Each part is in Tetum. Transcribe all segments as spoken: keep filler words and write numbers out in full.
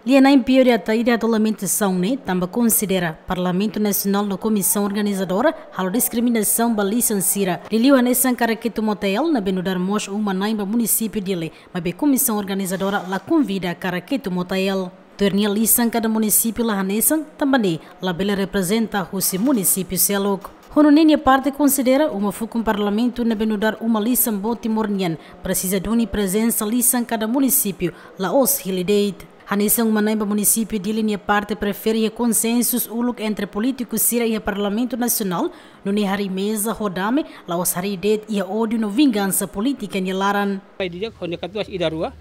Lia-na'in Pio de Ataide hato'o lamentasaun ne'e tanba konsidera Parlamentu Nasionál no Komisaun Organizadora halo diskriminasaun ba lisan sira. Liuliu hanesan Karaketu Motael ne'ebé nu'udar mós uma-na'in ba munisípiu Dili, maibé Komisaun Organizadora la konvida Karaketu Motael. Tuir nia lisan kada munisípiu la hanesan, tanba ne'e labele reprezenta husi munisípiu seluk. Ho nune'e nia parte konsidera uma fukun Parlamentu ne'ebé nu'udar uma lisan boot Timor nian presiza duni prezensa lisan kada munisípiu, la'ós hili de'it. Hanesan uma-na'in ba munisípiu Dili, nia parte prefere iha konsensu uluk entre polítiku sira iha Parlamentu Nasionál, nune'e harii meza ho dame, la'ós harii de'it iha ódiu no vingansa polítika nia laran. Mai di'ak ho nia katuas ida rua,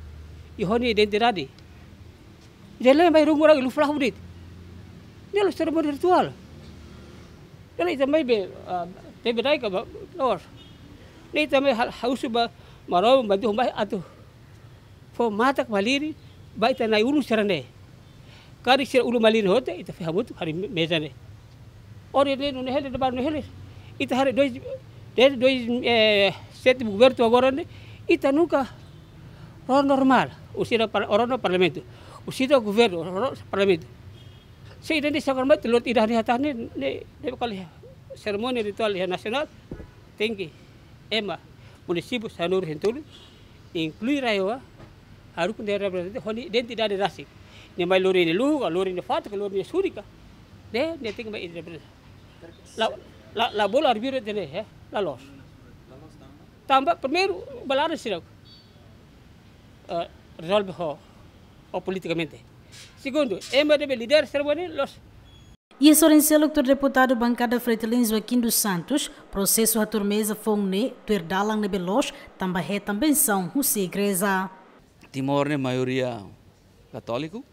i ho nia identidade. Ita lembra irung orang ilu flah udit. Ne'e la'ós serimónia rituál. Ne'e la'ós ita mai be, ah, tebe dai ka ba, la'ós. Ne'e ita mai hal-, ha'u husu ba Maromak bantu mai atu fó matak malirin ba ita na'i-ulun sira-ne'e. Karik sira ulun malirin hotu, ita fó hamutuk harii me-, meza ne'e. Ohin ne'e nune'e hela, de'it ba nune'e hela. Ita haree dois, desde dois, eh, sétimo governu agora ne'e, ita nunka rona normál. Husi ida par-, rona Parlamentu. Husi ida governu, rona Parlamentu. Se ida-ne'e sagar mai, lori ida-ne'e hatán ne'e, ne'e, ne'e kali serimónia rituál iha nasionál, tenke ema munisípiu sanulu-resin-tolu, inklui RAEOA, haruka nia reprezentante ho nia identidade rasik. Nia mai lori nia luhu ka, lori nia fatuk ka, lori nia suri ka. Ne'e, nia tenke mai reprezenta. La, la, la bolu arbitru ida-ne'e, eh, la loos. Tanba primeiru, ba laran sira, eh, rezolve ho, ho politikamente. Segundu, ema ne'ebé lidera serimónia, loos. Iha sorin seluk tuir deputadu bankada Fretilin Joaquim dos Santos, prosesu hatuur meza foun ne'e tuir dalan ne'ebé loos, tanba hetan bensaun husi igreja. Timor ne'e maioria katóliku,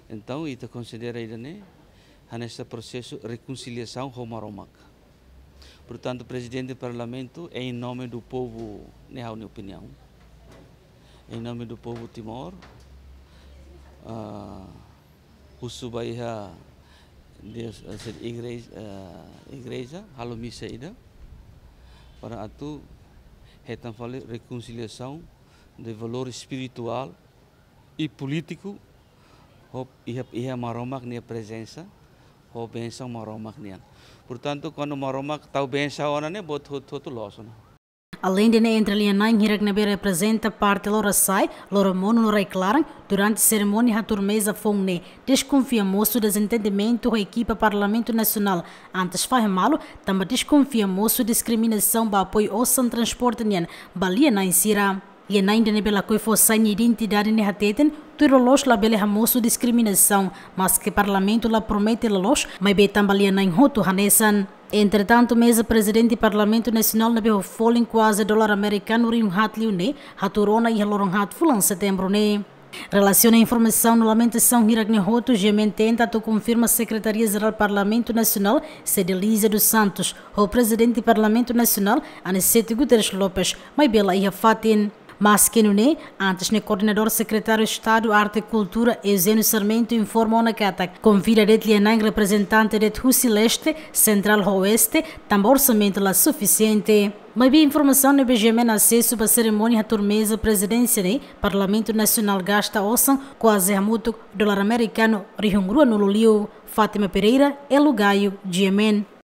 entaun ita konsidera ida-ne'e hanesan prosesu rekonsiliasaun ho Maromak. Portantu, Prezidente Parlamentu, em nome do povo, ne'e ha'u-nia opiniaun, em nome do povo Timor, ah, husu ba iha Deus, eh, sed igreja, eh, igreja, halo misa ida, para atu hetan fali rekonsiliasaun de valór espirituál i polítiku, ho iha, iha Maromak nia prezensa, ho bensaun Maromak nian. Portantu, kuandu Maromak tau bensaun ona ne'e, buat hotu-hotu loos ona. Aleinde ne'e, entre lia-na'in hirak ne'ebé reprezenta parte Lorosa'e, Loromonu no Rai-Klaran, durante serimónia hatuur meza foun ne'e, deskonfia mosu dezentendimentu ho ekipa Parlamentu Nasionál, antes fahe malu, tanba deskonfia mosu diskriminasaun ba apoiu osan transporte nian ba lia-na'in sira. Lia-na'in ida ne'ebé lakohi fó sai nia identidade ne'e hateten, tuir loloos labele hamosu diskriminasaun, maske Parlamentu la promete loloos, maibé tanba lia-na'in hotu hanesan. Entretantu, meza Prezidente Parlamentu Nasionál ne'ebé ho folin kuaze dolar amerikanu rihun haat liu ne'e, hatuur ona iha loron haat fulan Setembru ne'e. Relasiona informasaun no lamentasaun hirak ne'e hotu, GMN tenta atu konfirma Sekretaria Jerál Parlamentu Nasionál, Cedelízia dos Santos, ho Prezidente Parlamentu Nasionál, Aniceto Guterres Lopes, maibé la iha fatin. Maske nune'e, antes ne'e Koordenadór Sekretáriu Estadu Arte Kultura, Eugênio Sarmento, informa ona katak konvida de'it lia-na'in reprezentante de'it husi leste, sentrál ho oeste, tanba orsamentu la sufisiente. Maibé informasaun ne'ebé GMN asesu ba serimónia hatuur meza prezidénsia ne'e, Parlamentu Nasionál gasta osan kuaze hamutuk dolar amerikanu rihun ruanulu liu. Fátima Pereira, Elo Gaio, GMN.